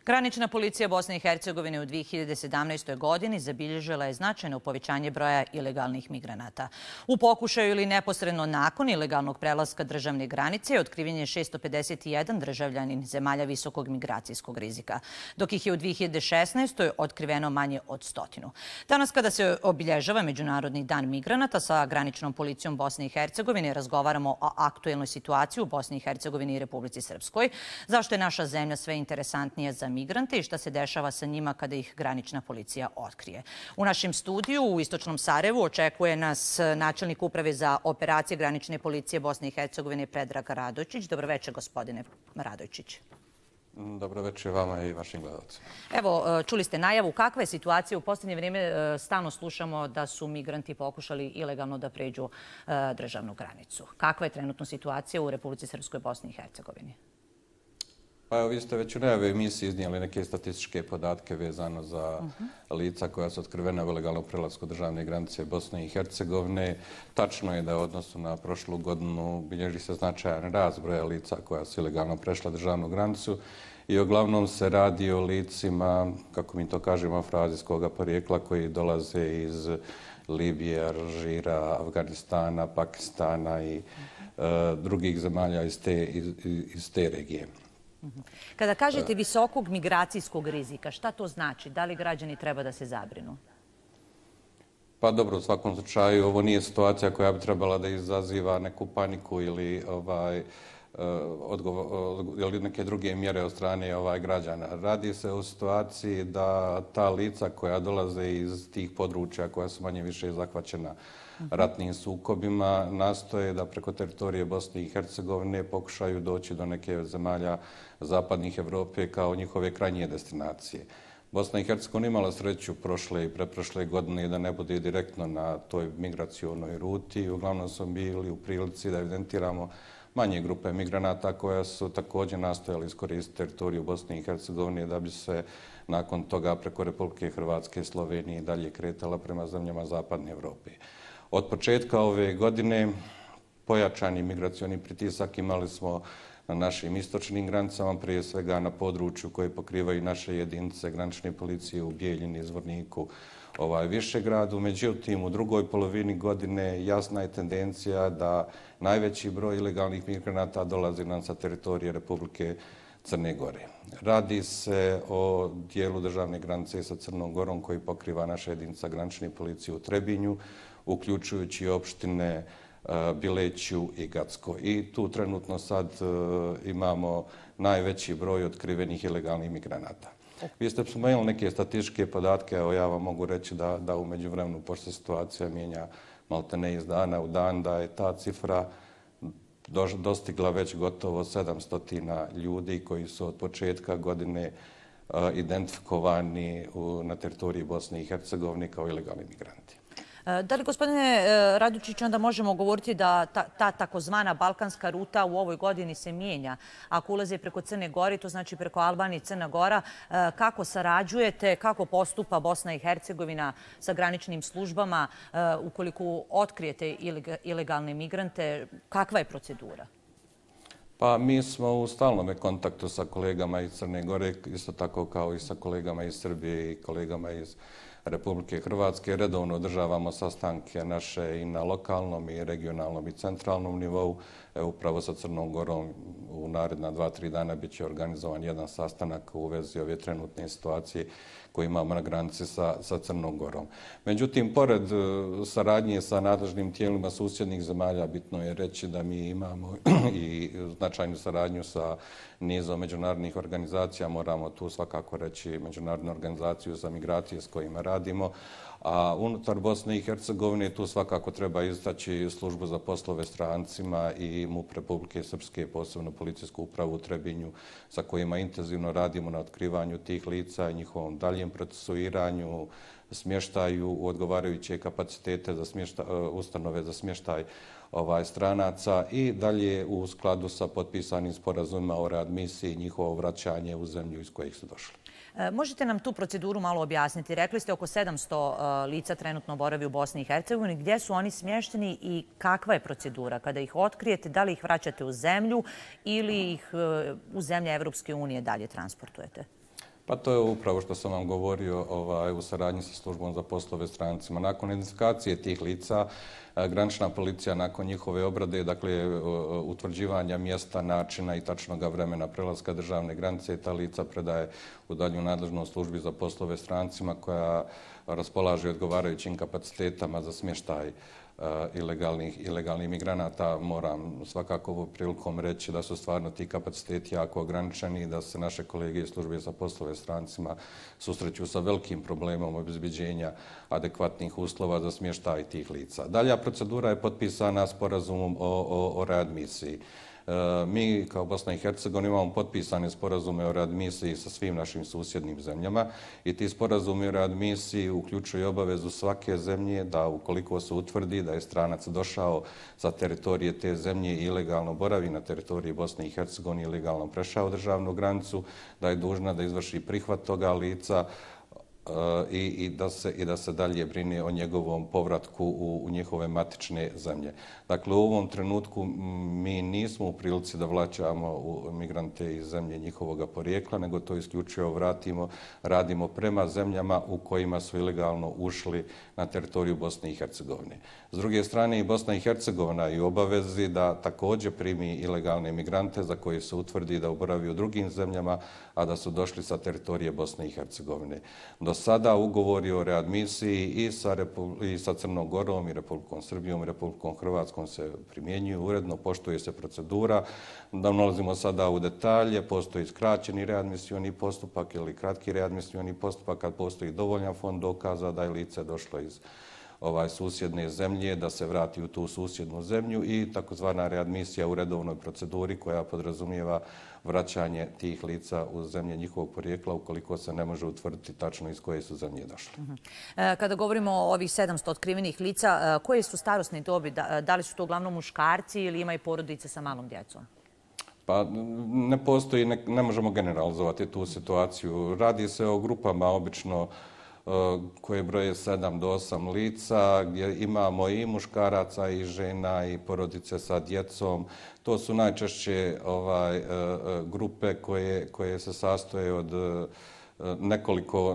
Granična policija Bosne i Hercegovine u 2017. godini zabilježila je značajno povećanje broja ilegalnih migranata. U pokušaju ili neposredno nakon ilegalnog prelaska državne granice otkriven je 651 državljanin zemalja visokog migracijskog rizika, dok ih je u 2016. otkriveno manje od 100. Danas, kada se obilježava Međunarodni dan migranata, sa graničnom policijom Bosne i Hercegovine razgovaramo o aktuelnoj situaciji u Bosni i Hercegovini i Republici Srpskoj, zašto je naša zemlja sve interesantnija za migrante i šta se dešava sa njima kada ih granična policija otkrije. U našem studiju u Istočnom Sarajevu očekuje nas načelnik Uprave za operacije granične policije Bosne i Hercegovine Predrag Radojčić. Dobro večer, gospodine Radojčić. Dobro večer vama i vašim gledalcima. Evo, čuli ste najavu. Kakva je situacija? U posljednje vrijeme stalno slušamo da su migranti pokušali ilegalno da pređu državnu granicu. Kakva je trenutno situacija u Republici Srpskoj, Bosni i Hercegovini? Pa evo, vi ste već u najave emisiji iznijeli neke statističke podatke vezano za lica koja su otkrivena u ilegalnom prelasku državne granice Bosne i Hercegovine. Tačno je da u odnosu na prošlu godinu bilježi se značajan rast broja lica koja su ilegalno prešla državnu granicu i uglavnom se radi o licima, kako mi to kažemo, afroazijskog porijekla koji dolaze iz Libije, Alžira, Afganistana, Pakistana i drugih zemalja iz te regije. Kada kažete visokog migracijskog rizika, šta to znači? Da li građani treba da se zabrinu? Pa dobro, u svakom slučaju ovo nije situacija koja bi trebala da izaziva neku paniku ili neke druge mjere od strane građana. Radi se o situaciji da ta lica koja dolaze iz tih područja koja su manje više zahvaćena ratnim sukobima nastoje da preko teritorije Bosne i Hercegovine pokušaju doći do neke zemalja zapadnih Evrope kao njihove krajnje destinacije. Bosna i Hercegovina imala sreću prošle i pretprošle godine da ne bude direktno na toj migracionoj ruti. Uglavnom smo bili u prilici da evidentiramo manje grupe migranata koja su također nastojali iskoristiti teritoriju Bosne i Hercegovine da bi se nakon toga preko Republike Hrvatske i Slovenije dalje kretala prema zemljama zapadne Evrope. Od početka ove godine pojačani migracioni pritisak imali smo na našim istočnim granicama, prije svega na području koje pokrivaju naše jedinice granične policije u Bijeljini, Zvorniku, Višegradu. Međutim, u drugoj polovini godine jasna je tendencija da najveći broj ilegalnih migranata dolazi nam sa teritorije Republike Crne Gore. Radi se o dijelu državne granice sa Crnom Gorom koji pokriva naša jedinica granične policije u Trebinju, uključujući opštine Bileću i Gacko. I tu trenutno sad imamo najveći broj otkrivenih ilegalnih migranata. Vi ste spomenuli neke statističke podatke, evo ja vam mogu reći da u međuvremenu, pošto se situacija mijenja maltene iz dana u dan, da je ta cifra dostigla već gotovo 700 ljudi koji su od početka godine identifikovani na teritoriji Bosne i Hercegovine kao ilegalni migranti. Da li, gospodine Radojčić, onda možemo govoriti da ta takozvana balkanska ruta u ovoj godini se mijenja? Ako ulaze preko Crne Gore, to znači preko Albanije i Crna Gora, kako sarađujete, kako postupa Bosna i Hercegovina sa graničnim službama ukoliko otkrijete ilegalne migrante? Kakva je procedura? Pa mi smo u stalnom kontaktu sa kolegama iz Crne Gore, isto tako kao i sa kolegama iz Srbije i kolegama iz Republike Hrvatske. Redovno održavamo sastanke naše i na lokalnom i regionalnom i centralnom nivou. Upravo sa Crnom Gorom u naredna 2-3 dana bit će organizovan jedan sastanak u vezi ove trenutne situacije koje imamo na granici sa Crnom Gorom. Međutim, pored saradnje sa nadležnim tijelima susjednih zemalja, bitno je reći da mi imamo i značajnu saradnju sa nizom međunarodnih organizacija. Moramo tu svakako reći Međunarodnu organizaciju za migracije s kojima radimo. A unutar Bosne i Hercegovine tu svakako treba istaći službu za poslove strancima i MUP Republike Srpske, posebno policijsku upravu u Trebinju, sa kojima intenzivno radimo na otkrivanju tih lica i njihovom daljem procesuiranju, smještaju u odgovarajuće kapacitete za ustanove za smještaj stranaca i dalje u skladu sa potpisanim sporazumima o readmisiji i njihovo vraćanje u zemlju iz kojih su došli. Možete nam tu proceduru malo objasniti? Rekli ste oko 700 lica trenutno boravi u Bosni i Hercegovini. Gdje su oni smješteni i kakva je procedura? Kada ih otkrijete, da li ih vraćate u zemlju ili ih u zemlje Evropske unije dalje transportujete? Pa to je upravo što sam vam govorio u saradnji sa službom za poslove strancima. Nakon identifikacije tih lica, granična policija nakon njihove obrade, dakle utvrđivanja mjesta, načina i tačnog vremena prelaska državne granice, ta lica predaje u dalju nadležnost službi za poslove strancima koja raspolaže odgovarajućim kapacitetima za smještaj ilegalnih migranata. Moram svakako ovom prilikom reći da su stvarno ti kapaciteti jako ograničeni i da se naše kolege iz službe za poslove strancima susreću sa velikim problemom obezbeđenja adekvatnih uslova za smještaj tih lica. Dalja procedura je potpisana sporazumom o readmisiji. Mi kao Bosna i Hercegovina imamo potpisane sporazume o readmisiji sa svim našim susjednim zemljama i ti sporazumi o readmisiji uključuju obavezu svake zemlje da ukoliko se utvrdi da je stranac došao sa teritorije te zemlje i ilegalno boravi na teritoriji Bosne i Hercegovine, ilegalno prešao državnu granicu, da je dužna da izvrši prihvat toga lica i da se dalje brine o njegovom povratku u njihove matične zemlje. Dakle, u ovom trenutku mi nismo u prilici da vraćamo migrante iz zemlje njihovog porijekla, nego to isključivo radimo prema zemljama u kojima su ilegalno ušli na teritoriju Bosne i Hercegovine. S druge strane, i Bosna i Hercegovina je u obavezi da također primi ilegalne migrante za koje se utvrdi da boravi u drugim zemljama, a da su došli sa teritorije Bosne i Hercegovine. Do sada ugovori o readmisiji i sa Crnom Gorom, i Republikom Srbijom, i Republikom Hrvatskom se primjenjuju uredno, poštuje se procedura. Da nalazimo sada u detalje, postoji skraćeni readmisioni postupak ili kratki readmisioni postupak kad postoji dovoljan fond dokaza da je lice došlo iz susjedne zemlje, da se vrati u tu susjednu zemlju i takozvana readmisija u redovnoj proceduri koja podrazumijeva vraćanje tih lica u zemlje njihovog porijekla ukoliko se ne može utvrditi tačno iz koje su zemlje došle. Kada govorimo o ovih 700 otkrivenih lica, koje su starosne dobi? Da li su to uglavnom muškarci ili ima i porodice sa malom djecom? Pa ne postoji, ne možemo generalizovati tu situaciju. Radi se o grupama obično koje broje 7 do 8 lica, gdje imamo i muškaraca i žena i porodice sa djecom. To su najčešće grupe koje se sastoje od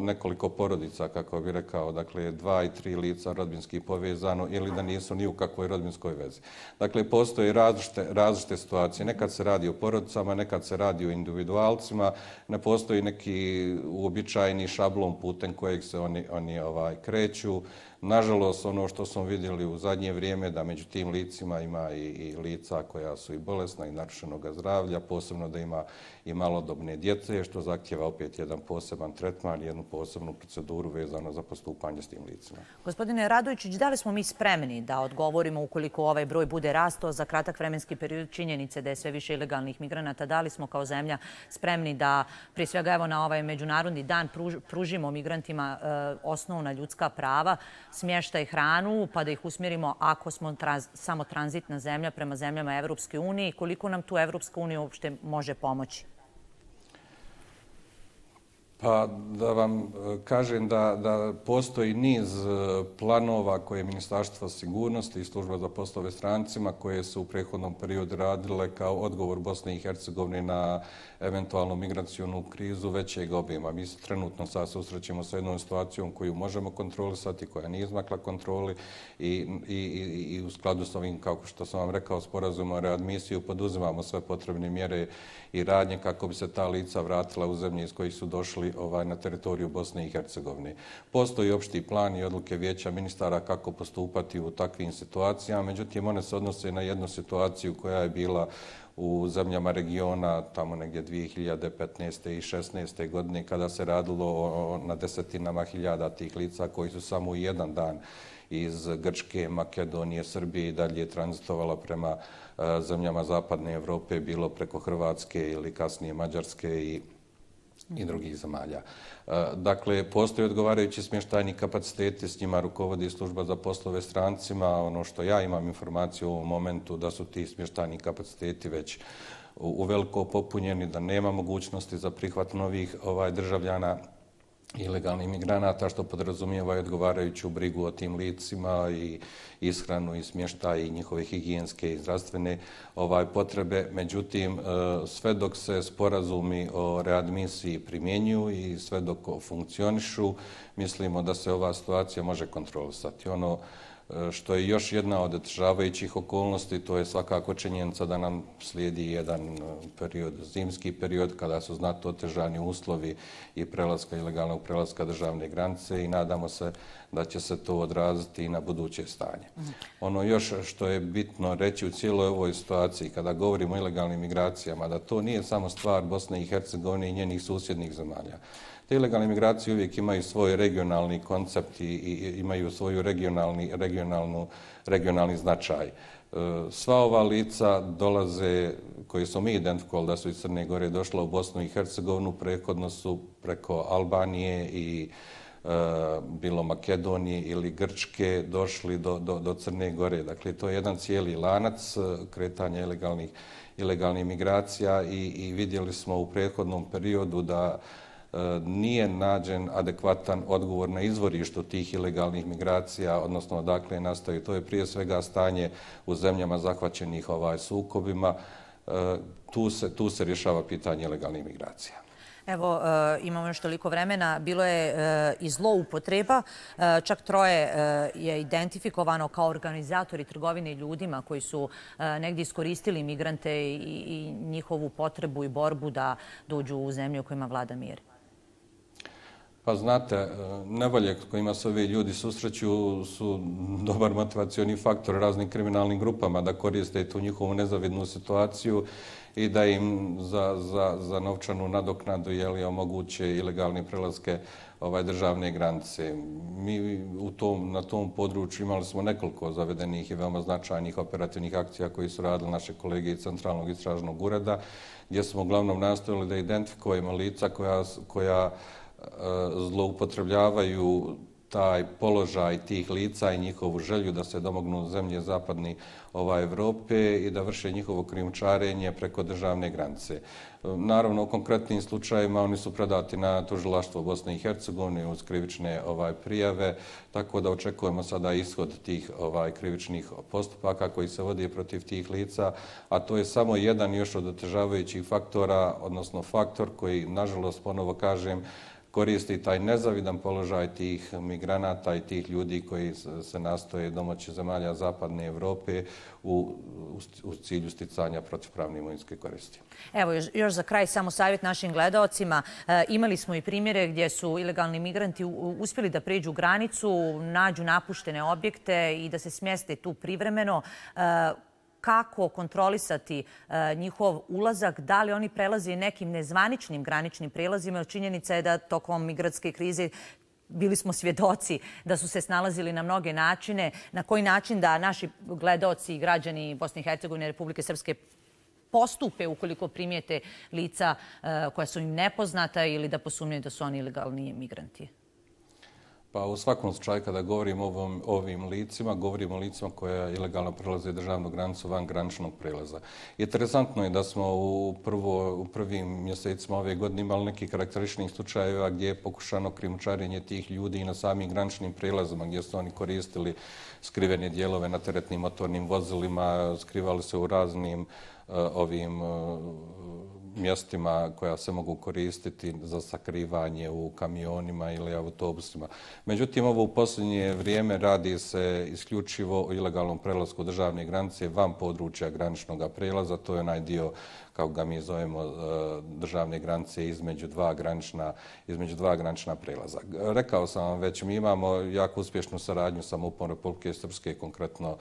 nekoliko porodica, kako bih rekao, dakle 2 i 3 lica rodbinski povezano ili da nisu ni u kakvoj rodbinskoj vezi. Dakle, postoje različite situacije. Nekad se radi o porodicama, nekad se radi o individualcima, ne postoji neki uobičajeni šablon putem kojeg se oni kreću. Nažalost, ono što smo vidjeli u zadnje vrijeme da među tim licima ima i lica koja su i bolesna i narušenog zdravlja, posebno da ima i malodobne djece, što zahtjeva opet jedan poseban tretman, jednu posebnu proceduru vezano za postupanje s tim licima. Gospodine Radojičić, da li smo mi spremni da odgovorimo ukoliko ovaj broj bude rastao za kratak vremenski period činjenice da je sve više ilegalnih migranata? Da li smo kao zemlja spremni da, prije svega evo na ovaj međunarodni dan, pružimo migrantima osnovna ljudska prava, smještaj, hranu, pa da ih usmjerimo ako smo samo tranzitna zemlja prema zemljama Evropske unije i koliko nam tu Evropska unija uopšte može pomoći? Pa da vam kažem da postoji niz planova koje je Ministarstvo sigurnosti i Služba za poslove strancima koje su u prethodnom periodu radile kao odgovor Bosne i Hercegovine na eventualnu migracionu krizu većeg obima. Mi se trenutno sad susrećemo sa jednom situacijom koju možemo kontrolisati, koja nije izmakla kontroli i u skladu s ovim, kao što sam vam rekao, sporazumom o readmisiju poduzimamo sve potrebne mjere i radnje kako bi se ta lica vratila u zemlje iz kojih su došli na teritoriju Bosne i Hercegovine. Postoji opšti plan i odluke Vijeća ministara kako postupati u takvim situacijama, međutim one se odnose na jednu situaciju koja je bila u zemljama regiona tamo negdje 2015. i 2016. godine kada se radilo na desetinama hiljada tih lica koji su samo u jedan dan iz Grčke, Makedonije, Srbije i dalje tranzitovala prema zemljama Zapadne Evrope, bilo preko Hrvatske ili kasnije Mađarske i drugih zemalja. Dakle, postoje odgovarajući smještajni kapaciteti, s njima rukovodi Služba za poslove strancima. Ono što ja imam informaciju u ovom momentu da su ti smještajni kapaciteti već uveliko popunjeni, da nema mogućnosti za prihvat novih državljana ilegalnih migranata, što podrazumijeva i odgovarajuću brigu o tim licima i ishranu i smještaj i njihove higijenske i zdravstvene potrebe. Međutim, sve dok se sporazumi o readmisiji primjenjuju i sve dok funkcionišu, mislimo da se ova situacija može kontrolisati. Ono što je još jedna od otežavajućih okolnosti, to je svakako činjenica da nam slijedi jedan period, zimski period, kada su znatno otežani uslovi i ilegalnog prelaska državne granice i nadamo se da će se to odraziti i na buduće stanje. Ono još što je bitno reći u cijeloj ovoj situaciji, kada govorimo o ilegalnim migracijama, da to nije samo stvar Bosne i Hercegovine i njenih susjednih zemalja. Te ilegalne migracije uvijek imaju svoj regionalni koncept i imaju svoju regionalni značaj. Sva ova lica dolaze, koje smo mi identifikovali da su iz Crne Gore došla u Bosnu i Hercegovinu, prethodno su preko Albanije i bilo Makedonije ili Grčke došli do Crne Gore. Dakle, to je jedan cijeli lanac kretanja ilegalnih migracija i vidjeli smo u prethodnom periodu da nije nađen adekvatan odgovor na izvorištu tih ilegalnih migracija, odnosno odakle nastaju. To je prije svega stanje u zemljama zahvaćenih sukobima. Tu se rješava pitanje ilegalnih migracija. Evo, imamo još toliko vremena. Bilo je i zloupotreba. Čak 3 je identifikovano kao organizatori trgovine ljudima koji su negdje iskoristili migrante i njihovu potrebu i borbu da dođu u zemlju u kojima vlada mir. Pa znate, nevolje s kojima se ovi ljudi susreću su dobar motivacioni faktor raznim kriminalnim grupama da koriste tu njihovu nezavidnu situaciju i da im za novčanu nadoknadu omoguće ilegalne prelaske državne granice. Mi na tom području imali smo nekoliko zavedenih i veoma značajnih operativnih akcija koji su radili naše kolege iz Centralnog istražnog ureda, gdje smo uglavnom nastojali da identifikujemo lica koja zloupotrebljavaju taj položaj tih lica i njihovu želju da se domognu zemlje zapadne Evrope i da vrše njihovo krijumčarenje preko državne granice. Naravno, u konkretnim slučajevima oni su predati na tužilaštvo Bosne i Hercegovine uz krivične prijave, tako da očekujemo sada ishod tih krivičnih postupaka koji se vode protiv tih lica, a to je samo jedan još od otežavajućih faktora, odnosno faktor koji, nažalost, ponovo kažem, koristi taj nezavidan položaj tih migranata i tih ljudi koji se nastoje domoći zemalja zapadne Evrope u cilju sticanja protivpravne imovinske koristi. Evo, još za kraj samo savjet našim gledaocima. Imali smo i primjere gdje su ilegalni migranti uspjeli da pređu granicu, nađu napuštene objekte i da se smjeste tu privremeno. Kako kontrolisati njihov ulazak, da li oni prelaze nekim nezvaničnim graničnim prelazima. Činjenica je da tokom migrantske krize bili smo svjedoci da su se snalazili na mnoge načine. Na koji način da naši gledaoci i građani Bosne i Hercegovine i Republike Srpske postupe ukoliko primijete lica koja su im nepoznata ili da posumnjaju da su oni ilegalni migranti? Pa u svakom slučaju kada govorimo o ovim licima, govorimo o licima koja ilegalno prelaze državnu granicu van graničnog prelaza. Interesantno je da smo u prvim mjesecima ove godine imali neki karakterističnih slučajeva gdje je pokušano krijumčarenje tih ljudi i na samim graničnim prelazima gdje su oni koristili skrivene dijelove na teretnim motornim vozilima, skrivali se u raznim ovim mjestima koja se mogu koristiti za sakrivanje u kamionima ili autobusima. Međutim, ovo u posljednje vrijeme radi se isključivo o ilegalnom prelasku državne granice van područja graničnog prelaza. To je onaj dio, kako ga mi zovemo, državne granice između dva granična prelaza. Rekao sam vam već, mi imamo jako uspješnu saradnju sa MUP-om Republike Srpske, konkretno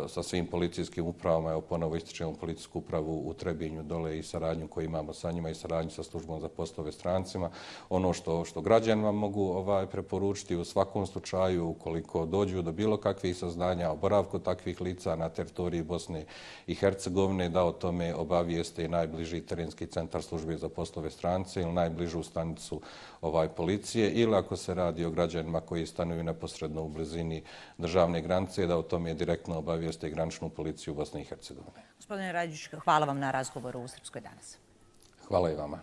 sa svim policijskim upravama. Evo, ponovo ističemo policijsku upravu u Trebinju dole i saradnju koju imamo sa njima i saradnju sa službom za poslove strancima. Ono što građanima mogu preporučiti u svakom slučaju, ukoliko dođu do bilo kakvih saznanja o boravku takvih lica na teritoriji Bosne i Hercegovine, da o tome obavijeste najbliži terenski centar službe za poslove strance ili najbližu stanicu policije, ili ako se radi o građanima koji stanuju neposredno u blizini državne granice, da o tome direktno obavijeste graničnu policiju Bosne i Hercegovine. Gospodine Rađić, hvala vam na razgovoru u Srpskoj danas. Hvala i vama.